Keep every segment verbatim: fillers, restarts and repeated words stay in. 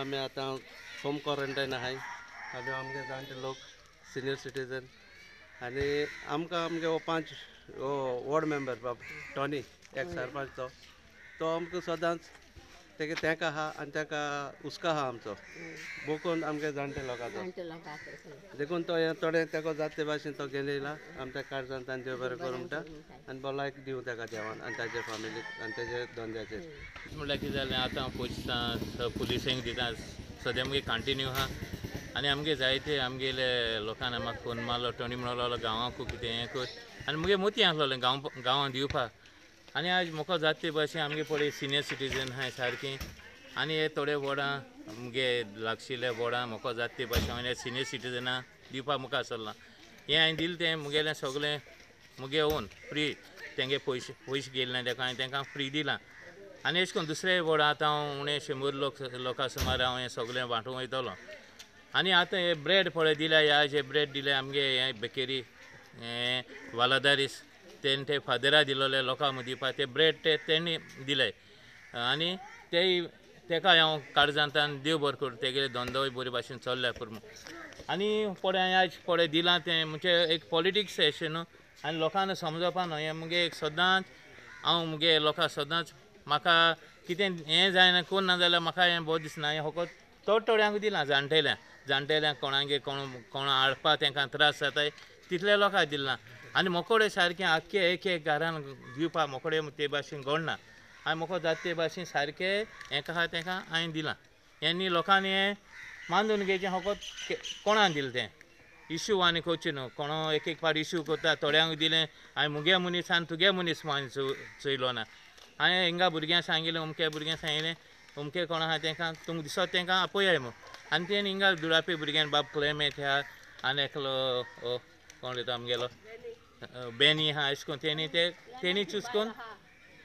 आमी आतां home quarantine आहाय. आमी आमगे जाणटे लोक सिनियर सिटीजन आनी आमकां आमगे हो पांच हो वॉर्ड मेंबर बाब टॉनी एक सरपंच तो तो आमकां सदांच तेगे तेंका आहा आनी तेका हुस्को आहा आमचो बोकून आमगे जाणटे लोकांचो देखून तो हें थोडें तेका जाता ते भाशेन तो घेवन येयला आमच्या काळजान तांचे देव बरें करूं म्हणटा आनी भलायक दिवं तेका देवान आनी ताजे फामिलीक आनी तेजे धंद्याचेर. म्हणल्यार कितें जालें आतां पयशे पुलिसेंक दिता सद्या मुगे कंटिन्यू आहा आनी आमगे जायते आमगेले लोकांनी म्हाका फोन मारलो टोनी म्हणून लागलो गांवांकू कितें हें कर आनी मुगे मोती आसलोलें गांव गांवांत दिवपाक आनी आज म्हाका जाता ते भाशेन आमगे पळय सिनियर सिटीजन आहाय सारकीं आनी हे थोडे वोर्डां मुगे लागशिल्ले वोर्डां म्हाका जाता ते भाशेन हांवें सिनियर सिटीजनां दिवपाक मुखार सरलां. हें हांवें दिलें तें मुगेलें सगळें मुगे ओन फ्री तेंगे पयशे पयशे गेले ना तेका हांवें तेंकां फ्री दिलां. आनी अशें करून दुसरे वोर्डां आतां हांव उणें शंबर लोक लोकां सुमार हांव हें सगळें वांटूंक वयतलो. आनी आतां हे ब्रेड पळय दिल्या ह्या जे ब्रेड दिले आमगे हे बेकरी हें वालादारीस तेणें ते फादरा दिलोले लोकां मदीं दिवपाक ते ब्रेड ते तेणी दिले आनी तेय तेका हांव काळजांतल्यान देव बरो करूं तेगेले धंदोय बरे भाशेन चल्ल्या पुरो. आनी पळय हांवें आयज पळय दिलां तें म्हणजे एक पॉलिटिक्स अशें न्हू आनी लोकांक समजपा न्हू हें मुगे एक सदांच हांव मुगे लोकांक सदांच म्हाका कितें हें जायना कोण ना जाल्यार म्हाका हें बरें दिसना हें फकत थोड थोड्यांक दिलां जाणटेल्यांक जाणटेल्यांक कोणागे कोण कोण हाडपा तेंकां त्रास जाताय तितले लोकांक दिलां. आनी मोकोडे सारकें आख्खे एक एक घरान दिवपाक मोकोडे ते भाशेन घडना आनी म्हाका जाता ते भाशेन सारकें हें आहा तेंकां हांवें दिलां. हें लोकांनी हें मानून घेवचें फकत कोणाक दिलें तें इशू आनी करचें न्हू कोणो एक एक फावट इशू करता थोड्यांक दिलें हांवें मुगे मनीस आनी तुगे मनीस म्हूण हांवें चोयलो ना. हांवें हिंगा भुरग्यांक सांगिल्लें अमके भुरग्यांक सांगिल्लें अमके कोण आहा तेंकां तुमकां दिसत तेंकां आपयाय म्हूण आनी तेणी हिंगा दुरापी भुरग्यांक बाब क्लेमेंत आहा आनी एकलो कोण रे तो आमगेलो बेनी आहा अशें करून तेणी ते तेणी चूज करून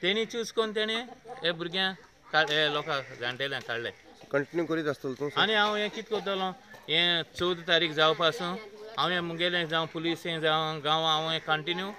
तेणी चूज करून तेणी हे भुरग्यांक हे लोकांक जाणटेल्यांक काडले. कंटिन्यू करीत आसतलो तूं? आनी हांव हें कितें करतलो हें चवदा तारीख जावपा पासून हांव हें मुगेलें जावं पुलिसें जावं गांवां हांव हें कंटिन्यू